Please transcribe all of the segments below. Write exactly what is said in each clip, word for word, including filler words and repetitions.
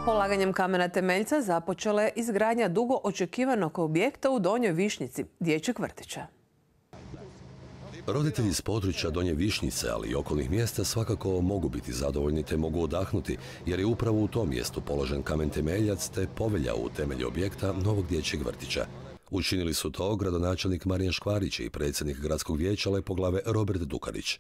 Polaganjem kamena temeljca započela je izgradnja dugo očekivanog objekta u Donjoj Višnjici, dječjeg vrtića. Roditelji iz područja Donje Višnjice, ali i okolnih mjesta svakako mogu biti zadovoljni te mogu odahnuti, jer je upravo u tom mjestu položen kamen temeljac te povelja u temelju objekta novog dječjeg vrtića. Učinili su to gradonačelnik Marijan Škvarić i predsjednik gradskog vijeća Lepoglave Robert Dukanić.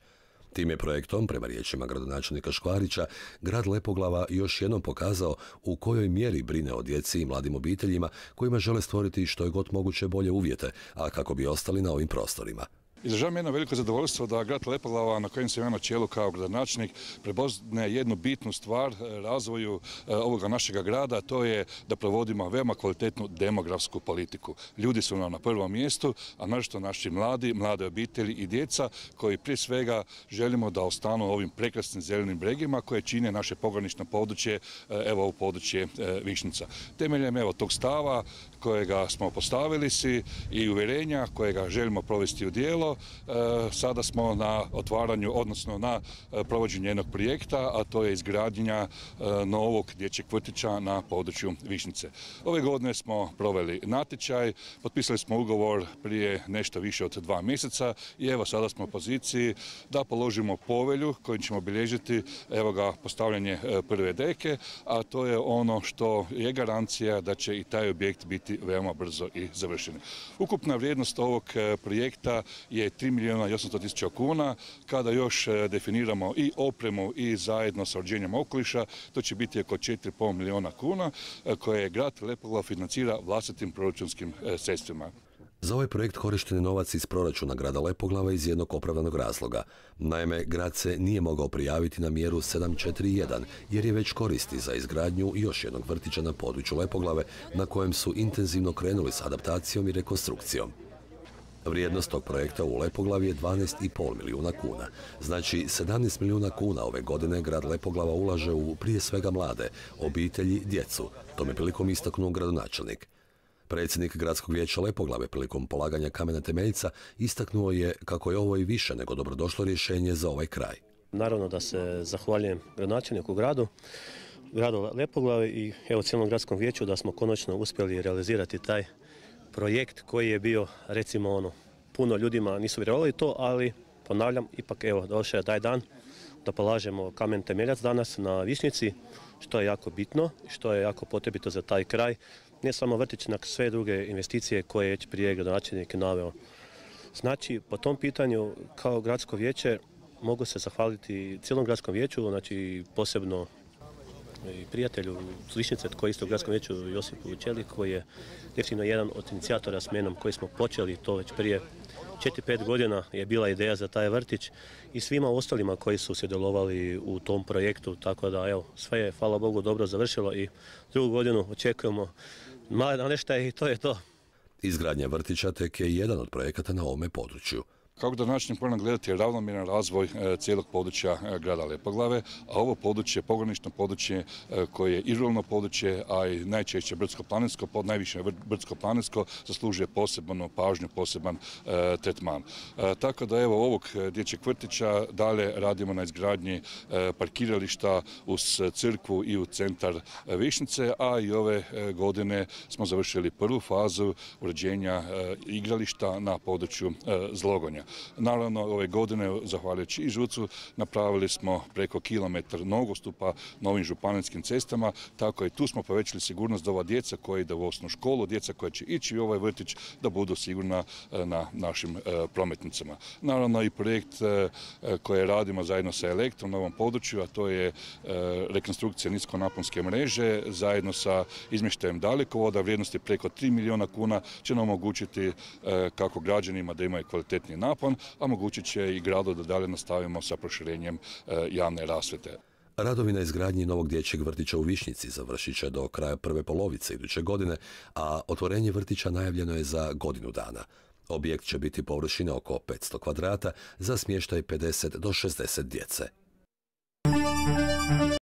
Tim je projektom, prema riječima gradonačelnika Škvarića, grad Lepoglava još jednom pokazao u kojoj mjeri brine o djeci i mladim obiteljima kojima žele stvoriti što je god moguće bolje uvjete, a kako bi ostali na ovim prostorima. Izražavam jedno veliko zadovoljstvo da grad Lepoglava, na kojem sam ja na čelu kao gradonačelnik, prepoznaje jednu bitnu stvar razvoju ovoga našega grada, to je da provodimo veoma kvalitetnu demografsku politiku. Ljudi su nam na prvom mjestu, a naročito naši mladi, mlade obitelji i djeca koji prije svega želimo da ostanu ovim prekrasnim zelenim bregima koje čine naše pogranično područje, evo ovo područje Višnjica. Temeljem evo tog stava kojega smo postavili si i uvjerenja kojega želimo provesti u djelo, sada smo na otvaranju, odnosno na provođenju jednog projekta, a to je izgradnja novog dječjeg vrtića na području Višnjice. Ove godine smo proveli natječaj, potpisali smo ugovor prije nešto više od dva mjeseca i evo sada smo u poziciji da položimo povelju kojim ćemo obilježiti evo ga postavljanje prve deke, a to je ono što je garancija da će i taj objekt biti veoma brzo i završen. Ukupna vrijednost ovog projekta je tri milijuna i osamsto tisuća kuna. Kada još definiramo i opremu i zajedno sa uređenjem okoliša, to će biti oko četiri i pol milijuna kuna koje grad Lepoglava financira vlastitim proračunskim sredstvima. Za ovaj projekt korišten je novac iz proračuna grada Lepoglava iz jednog opravdanog razloga. Naime, grad se nije mogao prijaviti na mjeru sedam četiri jedan jer je već koristi za izgradnju još jednog vrtića na području Lepoglave na kojem su intenzivno krenuli s adaptacijom i rekonstrukcijom. Vrijednost tog projekta u Lepoglavi je dvanaest i pol milijuna kuna. Znači, sedamnaest milijuna kuna ove godine grad Lepoglava ulaže u prije svega mlade, obitelji, djecu. Tome prilikom istaknuo gradonačelnik. Predsjednik gradskog vijeća Lepoglave prilikom polaganja kamena temeljca istaknuo je kako je ovo i više nego dobrodošlo rješenje za ovaj kraj. Naravno da se zahvaljujem gradonačelniku gradu, gradu Lepoglave i evo cijelom gradskom vijeću da smo konačno uspjeli realizirati taj projekt koji je bio, recimo ono, puno ljudima nisu vjerovali to, ali ponavljam, ipak evo došao je taj dan da polažemo kamen temeljac danas na Višnjici, što je jako bitno, što je jako potrebito za taj kraj. Ne samo vrtić, nego sve druge investicije koje je već prije gradonačelnik naveo. Znači, po tom pitanju kao gradsko vijeće mogu se zahvaliti cijelom gradskom vijeću, znači posebno i prijatelju s Višnjice koji je isto u gradskom vijeću Josipu Čeli, koji je definitivno jedan od inicijatora s menom koji smo počeli to već prije četiri pet godina je bila ideja za taj vrtić i svima ostalima koji su sudjelovali u tom projektu, tako da evo sve je hvala Bogu dobro završilo i drugu godinu očekujemo male namještaje i to je to. Izgradnja vrtića tek je jedan od projekata na ovome području. Kao gradonačelnik moram gledati ravnomjeran razvoj cijelog područja grada Lepoglave, a ovo područje, pogranično područje koje je i ruralno područje, a i najčešće brdsko-planinsko, pod najviše brdsko-planinsko, zaslužuje posebnu pažnju, poseban e, tretman. E, tako da evo ovog dječjeg vrtića dalje radimo na izgradnji e, parkirališta uz crkvu i u centar Višnjice, a i ove godine smo završili prvu fazu uređenja e, igrališta na području e, Zlogonja. Naravno, ove godine, zahvaljujući i ŽUC-u, napravili smo preko kilometar nogostupa novim županijskim cestama, tako i tu smo povećali sigurnost da ova djeca koja ide u osnovnu školu, djeca koja će ići u ovaj vrtić, da budu sigurna na našim prometnicama. Naravno i projekt koji radimo zajedno sa Elektrom na ovom području, a to je rekonstrukcija niskonaponske mreže, zajedno sa izmještajem dalekovoda, vrijednosti preko tri milijuna kuna, će nam omogućiti kako građanima da imaju kvalitetni napon, a mogućit će i gradu da dalje nastavimo sa proširenjem javne rasvjete. Radovi na izgradnji novog dječjeg vrtića u Višnjici završit će do kraja prve polovice iduće godine, a otvorenje vrtića najavljeno je za godinu dana. Objekt će biti površine oko petsto kvadrata za smještaj pedeset do šezdeset djece.